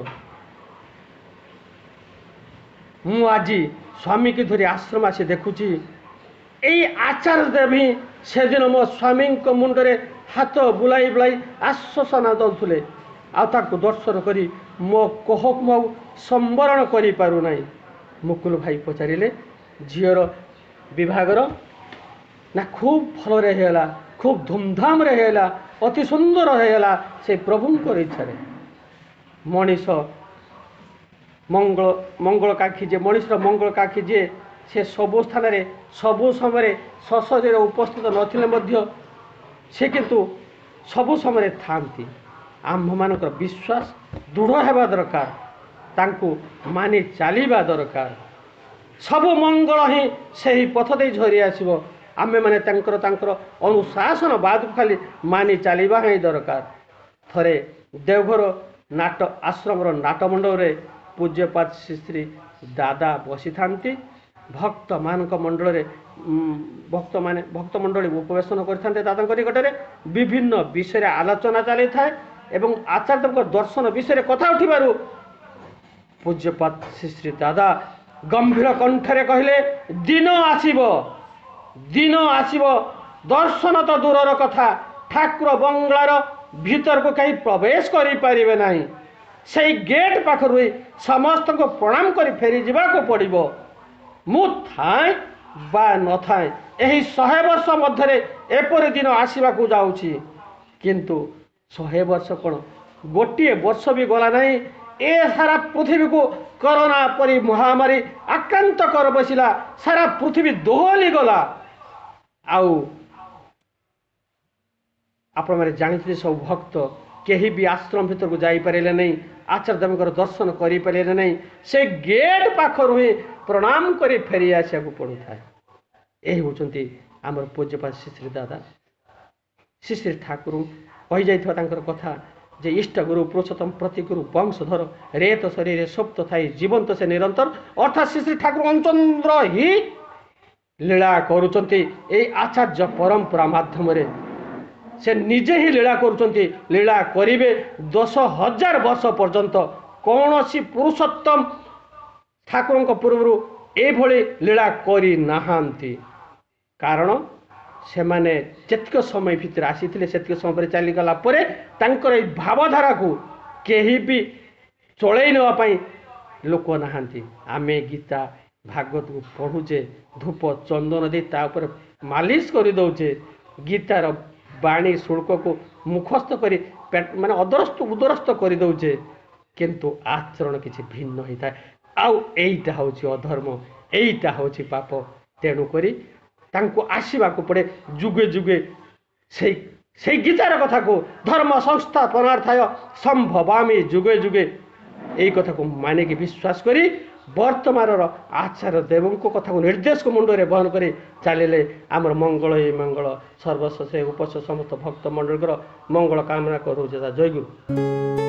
ମୁଁ ଆଜି ସ୍ୱାମୀକି ଧରି ଆଶ୍ରମ ଆସି ଦେଖୁଛି, ଏଇ ଆଚାର୍ଯ୍ୟ ଦେବ ହିଁ ସେଦିନ ମୋ ସ୍ୱାମୀଙ୍କ ମୁଣ୍ଡରେ ହାତ ବୁଲାଇ ବୁଲାଇ ଆଶ୍ୱାସନା ଦେଉଥିଲେ। ଆଉ ତାଙ୍କୁ ଦର୍ଶନ କରି ମୋ କୋହକୁ ମୁଁ ଆଉ ସମ୍ବରଣ କରିପାରୁନାହିଁ। ମୁକୁଲ ଭାଇ ପଚାରିଲେ, ଝିଅର ବିବାହଘର ନା ଖୁବ୍ ଭଲରେ ହେଇଗଲା, ଖୁବ୍ ଧୁମଧାମରେ ହେଇଗଲା, ଅତି ସୁନ୍ଦର ହେଇଗଲା ସେ ପ୍ରଭୁଙ୍କର ଇଚ୍ଛାରେ। ମଣିଷ ମଙ୍ଗଳ ମଙ୍ଗଳକାକ୍ଷୀ ଯିଏ, ମଣିଷର ମଙ୍ଗଳକାକ୍ଷୀ ଯିଏ, ସେ ସବୁ ସ୍ଥାନରେ ସବୁ ସମୟରେ ସଶରୀରେ ଉପସ୍ଥିତ ନଥିଲେ ମଧ୍ୟ ସେ କିନ୍ତୁ ସବୁ ସମୟରେ ଥାଆନ୍ତି। ଆମ୍ଭମାନଙ୍କର ବିଶ୍ୱାସ ଦୃଢ଼ ହେବା ଦରକାର, ତାଙ୍କୁ ମାନି ଚାଲିବା ଦରକାର। ସବୁ ମଙ୍ଗଳ ହିଁ ସେହି ପଥ ଦେଇ ଝରି ଆସିବ। ଆମେମାନେ ତାଙ୍କର ତାଙ୍କର ଅନୁଶାସନ ବାଦକୁ ଖାଲି ମାନି ଚାଲିବା ହିଁ ଦରକାର। ଥରେ ଦେଓଘର ନାଟ ଆଶ୍ରମର ନାଟମଣ୍ଡପରେ ପୂଜ୍ୟପାଦ ଶ୍ରୀ ଶ୍ରୀ ଦାଦା ବସିଥାନ୍ତି। ଭକ୍ତମାନଙ୍କ ମଣ୍ଡଳରେ ଭକ୍ତମାନେ ଭକ୍ତମଣ୍ଡଳୀ ଉପବେଶନ କରିଥାନ୍ତି। ଦାଦାଙ୍କ ନିକଟରେ ବିଭିନ୍ନ ବିଷୟରେ ଆଲୋଚନା ଚାଲିଥାଏ ଏବଂ ଆଚାର୍ଯ୍ୟଙ୍କ ଦର୍ଶନ ବିଷୟରେ କଥା ଉଠିବାରୁ ପୂଜ୍ୟପାଦ ଶ୍ରୀ ଶ୍ରୀ ଦାଦା ଗମ୍ଭୀର କଣ୍ଠରେ କହିଲେ, ଦିନ ଆସିବ, ଦିନ ଆସିବ, ଦର୍ଶନ ତ ଦୂରର କଥା, ଠାକୁର ବଙ୍ଗଳାର ଭିତରକୁ କେହି ପ୍ରବେଶ କରିପାରିବେ ନାହିଁ। ସେଇ ଗେଟ୍ ପାଖରୁ ସମସ୍ତଙ୍କୁ ପ୍ରଣାମ କରି ଫେରିଯିବାକୁ ପଡ଼ିବ। ମୁଁ ଥାଏଁ ବା ନଥାଏ, ଏହି ଶହେ ବର୍ଷ ମଧ୍ୟରେ ଏପରି ଦିନ ଆସିବାକୁ ଯାଉଛି। କିନ୍ତୁ ଶହେ ବର୍ଷ କ'ଣ, ଗୋଟିଏ ବର୍ଷ ବି ଗଲା ନାହିଁ, ଏ ସାରା ପୃଥିବୀକୁ କରୋନା ପରି ମହାମାରୀ ଆକ୍ରାନ୍ତ କର ବସିଲା, ସାରା ପୃଥିବୀ ଦୋହଲି ଗଲା। ଆଉ ଆପଣମାନେ ଜାଣିଥିଲେ, ସବୁ ଭକ୍ତ କେହି ବି ଆଶ୍ରମ ଭିତରକୁ ଯାଇପାରିଲେ ନାହିଁ, ଆଚାର୍ଯ୍ୟ ଦେବଙ୍କର ଦର୍ଶନ କରିପାରିଲେ ନାହିଁ। ସେ ଗେଟ୍ ପାଖରୁ ହିଁ ପ୍ରଣାମ କରି ଫେରି ଆସିବାକୁ ପଡ଼ୁଥାଏ। ଏହି ହେଉଛନ୍ତି ଆମର ପୂଜ୍ୟପାଦ ଶ୍ରୀ ଶ୍ରୀ ଦାଦା ଶ୍ରୀ ଶ୍ରୀ ଠାକୁର କହିଯାଇଥିବା ତାଙ୍କର କଥା ଯେ ଇଷ୍ଟ ଗୁରୁ ପୁରୁଷୋତ୍ତମ ପ୍ରତିଗୁରୁ ବଂଶଧର, ରେତ ଶରୀରେ ସୁପ୍ତ ଥାଇ ଜୀବନ୍ତ ସେ ନିରନ୍ତର। ଅର୍ଥାତ୍ ଶ୍ରୀ ଶ୍ରୀ ଠାକୁର ଅଞ୍ଚନ୍ଦ୍ର ହିଁ ଲୀଳା କରୁଛନ୍ତି ଏଇ ଆଚାର୍ଯ୍ୟ ପରମ୍ପରା ମାଧ୍ୟମରେ। ସେ ନିଜେ ହିଁ ଲୀଳା କରୁଛନ୍ତି, ଲୀଳା କରିବେ ଦଶ ହଜାର ବର୍ଷ ପର୍ଯ୍ୟନ୍ତ। କୌଣସି ପୁରୁଷୋତ୍ତମ ଠାକୁରଙ୍କ ପୂର୍ବରୁ ଏଇଭଳି ଲୀଳା କରିନାହାନ୍ତି, କାରଣ ସେମାନେ ଯେତିକ ସମୟ ଭିତରେ ଆସିଥିଲେ ସେତିକି ସମୟ ପରେ ଚାଲିଗଲା ପରେ ତାଙ୍କର ଏଇ ଭାବଧାରାକୁ କେହି ବି ଚଳେଇ ନେବା ପାଇଁ ଲୋକ ନାହାନ୍ତି। ଆମେ ଗୀତା ଭାଗବତକୁ ପଢ଼ୁଛେ, ଧୂପ ଚନ୍ଦନ ଦେଇ ତା ଉପରେ ମାଲିସ କରିଦେଉଛେ, ଗୀତାର ବାଣୀ ଶୁଳ୍କକୁ ମୁଖସ୍ଥ କରି ମାନେ ଅଦରସ୍ଥ ଉଦରସ୍ଥ କରିଦେଉଛେ, କିନ୍ତୁ ଆଚରଣ କିଛି ଭିନ୍ନ ହେଇଥାଏ। ଆଉ ଏଇଟା ହେଉଛି ଅଧର୍ମ, ଏଇଟା ହେଉଛି ପାପ। ତେଣୁକରି ତାଙ୍କୁ ଆସିବାକୁ ପଡ଼େ ଯୁଗେ ଯୁଗେ ସେଇ ସେଇ ଗୀତାର କଥାକୁ, ଧର୍ମ ସଂସ୍ଥାପନାର୍ଥାୟ ସମ୍ଭବାମି ଯୁଗେ ଯୁଗେ, ଏଇ କଥାକୁ ମାନିକି ବିଶ୍ୱାସ କରି ବର୍ତ୍ତମାନର ଆଚାର୍ଯ୍ୟ ଦେବଙ୍କ କଥାକୁ ନିର୍ଦ୍ଦେଶକୁ ମୁଣ୍ଡରେ ବହନ କରି ଚାଲିଲେ ଆମର ମଙ୍ଗଳ। ଏଇ ମଙ୍ଗଳ ସର୍ବସ୍ୱ ସେ ଉପସ୍ଥିତ ସମସ୍ତ ଭକ୍ତ ମଣ୍ଡଳୀଙ୍କର ମଙ୍ଗଳ କାମନା କରୁଛି। ଜୟଗୁରୁ।